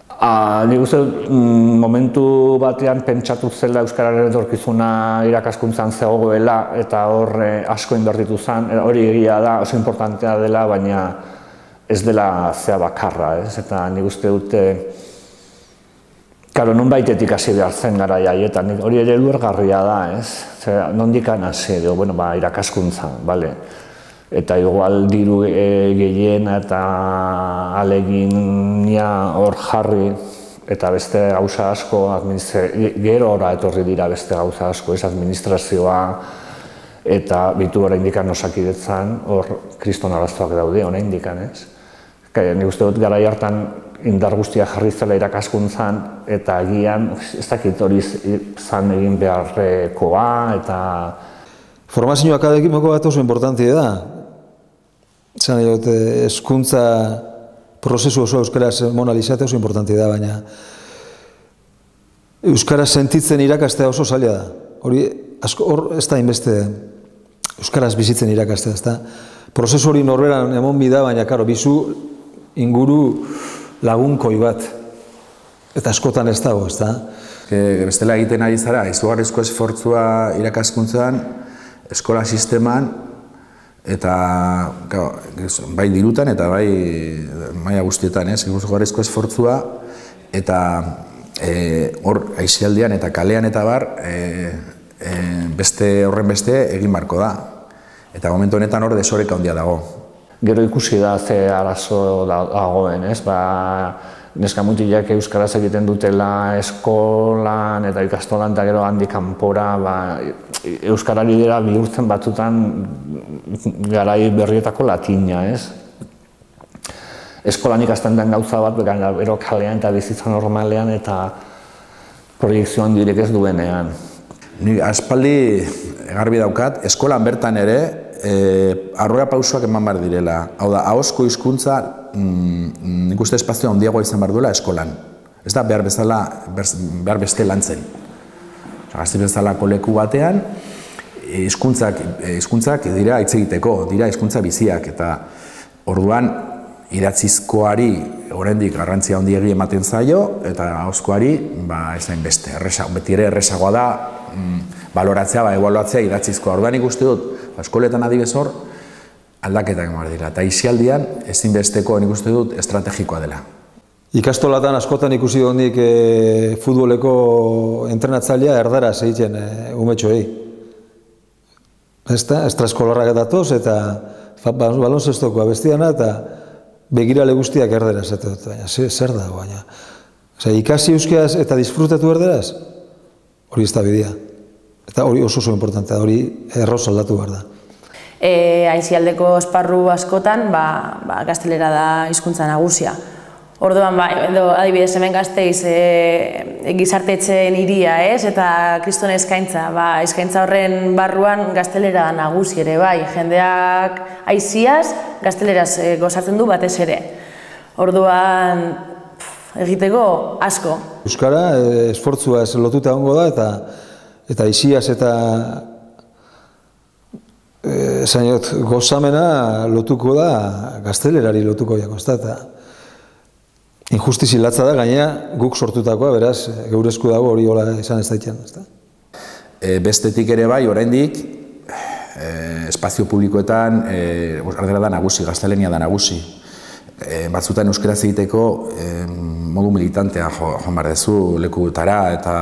Nik uste momentu batean pentsatu zela Euskararen etorkizuna irakaskuntzan zegoela eta hor asko inbertitu zen, hori egia da, oso importantea dela, baina ez dela zea bakarra, ez? Eta nik uste dute, karo, nonbaitetik hasi behar zen garai haietan, hori ere ulergarria da, ez? Nondikan hasi, bueno, irakaskuntzan, bale? Eta igual diru gehien eta alegina hor jarri eta beste gauza asko, gero ora etorri dira beste gauza asko, ez administrazioa eta bitu oraindik Osakidetzan, hor kriston arazoak daude oraindik, ez? Nik uste dut garai hartan indar guztia jarri zela irakaskuntzan eta agian ez dakit hori zan egin beharrekoa eta... Formazio akademiko bat oso importantia da. Zan dut, hezkuntza prozesu oso euskaraz monalizatea oso importantia da, baina euskaraz sentitzen irakastea oso zaila da. Hori, hor ez da inbeste euskaraz bizitzen irakastea, ez da. Prozesu hori norberan emon bida, baina, karo, bizu inguru lagunkoi bat. Eta askotan ez dago, ez da. Bestela egiten ari zara, izugarrizko esfortzua irakaskuntzan, eskola sisteman, eta bai dirutan eta bai maila guztietan, izugarrizko esfortzua, eta hor aisialdian eta kalean eta bar, horren beste egin barko da. Eta momentu honetan hor desoreka handia dago. Gero ikusi da ze arazo dagoen, ez? Neska mutilak euskaraz egiten dutela eskolan eta ikastolan eta gero handik kanpora euskarari dira bihurtzen batzutan garai berrietako latina, ez? Eskolan ikasten den gauza bat, gero kalean eta bizitza normalean eta proiekzio handirik ez duenean. Ni aspaldi garbi daukat, eskolan bertan ere aurrera pausoak eman behar direla. Hau da, ahozko hizkuntza nik uste espazioa handiagoa izan behar duela eskolan. Ez da behar beste lantzen. Gazte bezalako leku batean, hizkuntzak dira hitz egiteko, dira hizkuntza biziak, eta orduan idatzizkoari oraindik garrantzia handiegi ematen zaio, eta ahozkoari ez hain beste. Beti ere errezagoa da baloratzea, ebaluatzea idatzizkoa. Orduan ikuste dut, eskoletan adibez hor, aldaketak emar dira. Eta isialdian, ezinbesteko nik uste dut estrategikoa dela. Ikastolatan askotan ikusi hondik futboleko entrenatzailea erdaraz egiten umetxoei. Estraeskolarrak datoz eta balonzestokoa bestiana eta begirale guztiak erderaz. Baina zer da, baina. Ikasi euskaraz eta disfrutatu erderaz, hori ez da bidea. Eta hori oso importantea, hori erroz aldatu behar da. Aisialdeko esparru askotan, gaztelera da hizkuntza nagusia. Orduan, adibidez, hemen Gasteiz gizartetzen hiria, eta kriston eskaintza. Eskaintza horren barruan gaztelera nagusi ere, bai. Jendeak aisiaz, gazteleraz gozatzen du batez ere. Orduan, egiteko asko. Euskara, esfortzua ez lotuta ongo da, eta isiaz eta gozamena lotuko da, gaztelerari lotuko jako, ez da. Injustizi latza da, gainera guk sortutakoa, beraz, geure esku dago hori hola izan ez daitean. Bestetik ere bai, oraindik, espazio publikoetan ardera da nagusi, gaztelania da nagusi. Batzutan euskaraz egiteko modu militantea joan behar duzu lekutara eta...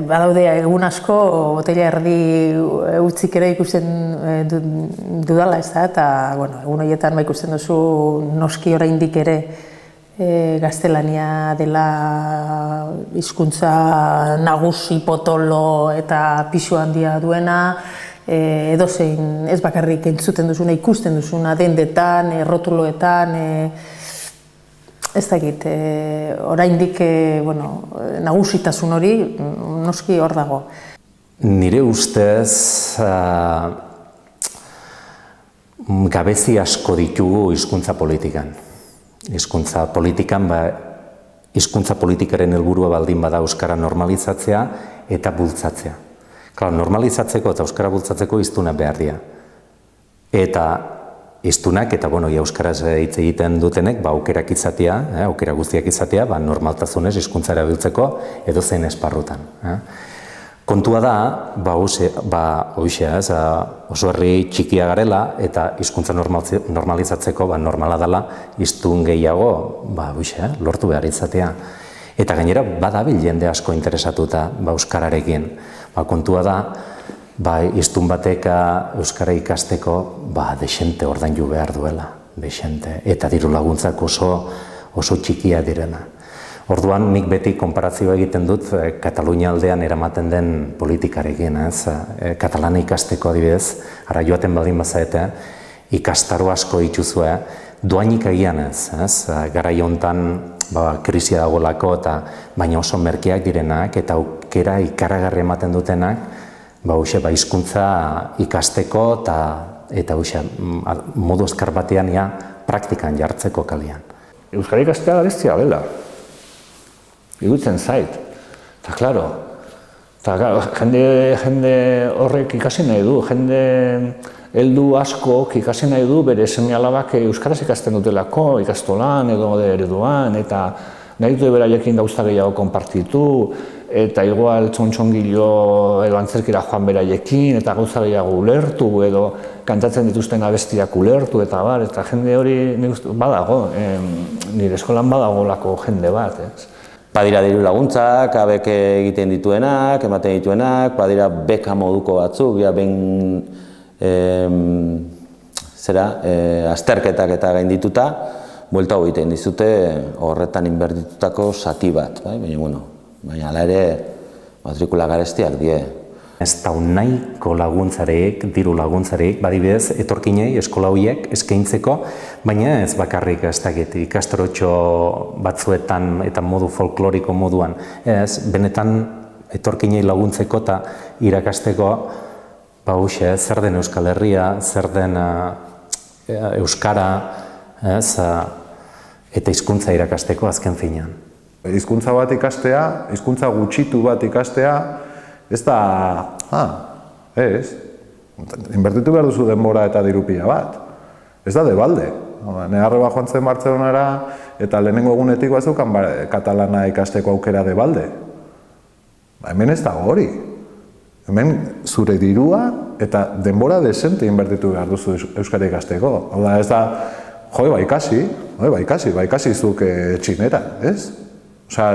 Badaude egun asko, botella erdi utzik ere ikusten dudala, ez da, eta egun horietan ikusten duzu noski oraindik ere gaztelania dela hizkuntza nagusi, potolo eta pisu handia duena, edozein ez bakarrik entzuten duzuna, ikusten duzuna, dendetan, rotuloetan, ez dakit, oraindik nagusitasun hori noski hor dago. Nire ustez gabezi asko ditugu hizkuntza politikan. Hizkuntza politikaren helburua baldin bada euskara normalizatzea eta bultzatzea. Normalizatzeko eta euskara bultzatzeko hiztunak behar dira. Eta hiztunak eta euskaraz hitz egiten dutenek aukerak izatea, aukera guztiak izatea, normaltasunez hizkuntza erabiltzeko edozein esparrutan. Kontua da, oso herri txikia garela eta hizkuntza normalizatzeko normala dela hiztun gehiago lortu behar izatea. Eta gainera badabil jende asko interesatuta euskararekin. Kontua da, hiztun batek euskara ikasteko desente ordaindu behar duela, desente. Eta diru laguntzak oso txikia direna. Orduan, nik beti konparazioa egiten dut Katalunia aldean eramaten den politikarekin, katalana ikasteko adibidez, ara joaten baldin bazaete, ikastaro asko ituzue, doainik egian ez, garai hontan krisia dagoelako eta baina oso merkeak direnak eta aukera ikaragarri ematen dutenak, hizkuntza ikasteko eta modu azkar batean praktikan jartzeko kalian. Euskara ikastea garestia dela. Igutzen zait. Eta, klaro, jende horrek ikasi nahi du, jende heldu askok ikasi nahi du bere seme-alabak euskaraz ikasten dutelako, ikastolan edo ereduan, eta nahi dute beraiekin gauza gehiago konpartitu, eta igual txontxongilo edo antzerkira joan beraiekin, eta gauza gehiago ulertu, edo kantatzen dituzten abestiak ulertu, eta jende hori badago, nire eskolan badagolako jende bat, ez? Badira diru laguntzak, abek egiten dituenak, ematen dituenak, badira beka moduko batzuk, azterketak eta gaindituta, buelta egiten dizute horretan inbertitutako zati bat, baina hala ere matrikula garestiak die. Ez da nahiko laguntzareek, diru laguntzareek, badibidez, etorkinei eskola horiek eskaintzeko, baina ez bakarrik ez dakit ikastorotxo batzuetan eta modu folkloriko moduan. Ez, benetan etorkinei laguntzeko eta irakasteko zer den Euskal Herria, zer den Euskara, eta hizkuntza irakasteko azken finean. Hizkuntza bat ikastea, hizkuntza gutxitu bat ikastea, ez da, inbertitu behar duzu denbora eta dirupia bat. Ez da debalde. Negarreba joan zen Bartzelonara eta lehenengo egunetik bazukan katalana ikasteko aukera debalde. Hemen ez da hori. Hemen zure dirua eta denbora desente inbertitu behar duzu euskara ikasteko. Hau da, ez da, ikasi zuk txinera, ez? Osa,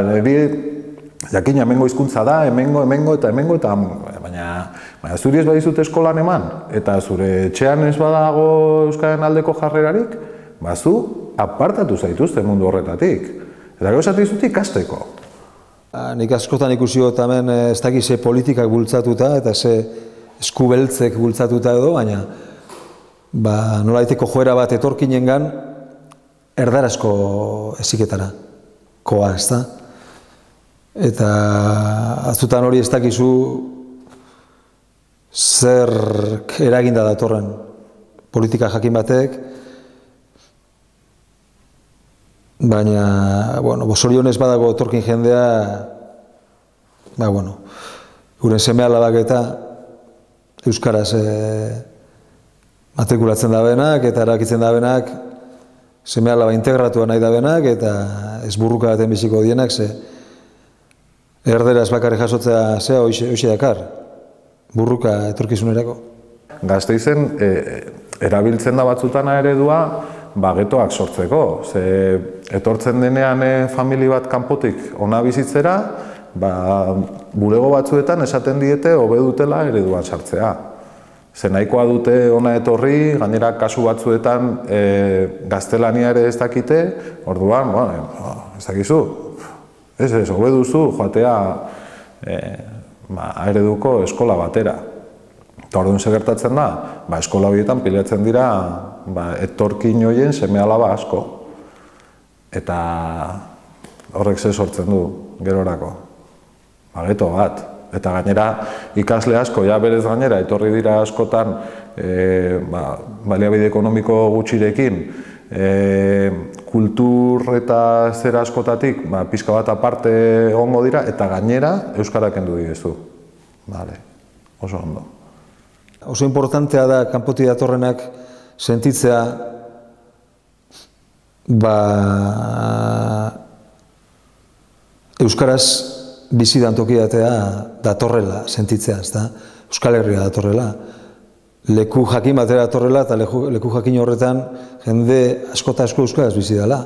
jakin hemengo hizkuntza da, hemengo, baina zuri ez badizut eskolan eman, eta zure etxean ez badago euskaren aldeko jarrerarik, zu apartatu zaituzte mundu horretatik. Eta gero esatizut ikasteko. Nik askotan ikusi dut hemen ez dakiz ze politikak bultzatuta eta ze eskubeltzek bultzatuta edo, baina nolaiteko joera bat etorkinengan erdarazko heziketara koa, ez da? Eta azutan hori ez dakizu zer eraginda datorren politika jakin batek, baina, zorionez badago etorkin jendea, guren seme-alabak eta euskaraz matrikulatzen dabenak eta erakitzen dabenak, seme-alaba integratua nahi dabenak eta ez burruka baten biziko dienak, erderaz bakarrik jasotzea zea hoxe dakar, burruka etorkizunerako. Gasteizen erabiltzen da batzutana eredua getoak sortzeko. Etortzen denean famili bat kanpotik ona bizitzera, bulego batzuetan esaten diete hobe dutela ereduan sartzea. Nahikoa dute ona etorri, gainera kasu batzuetan gaztelania ere ez dakite, orduan, ez dakizu. Ez, hobe duzu joatea ereduko eskola batera. Eta orduan gertatzen da, eskola horietan pilatzen dira etorkin horien seme-alaba asko. Eta horrek ze sortzen du gerorako. Geto bat. Eta gainera ikasle asko, berez gainera, etorri dira askotan baliabide ekonomiko gutxirekin, kultur eta zera askotatik pixka bat aparte egongo dira eta gainera euskara kendu direzu. Oso ondo. Oso importantea da kanpotik datorrenak sentitzea euskaraz bizidan tokiatea datorrela sentitzea, ezta? Euskal Herria datorrela. Leku jakin batera datorrela eta leku jakin horretan jende asko eta asko euskaraz bizi dela.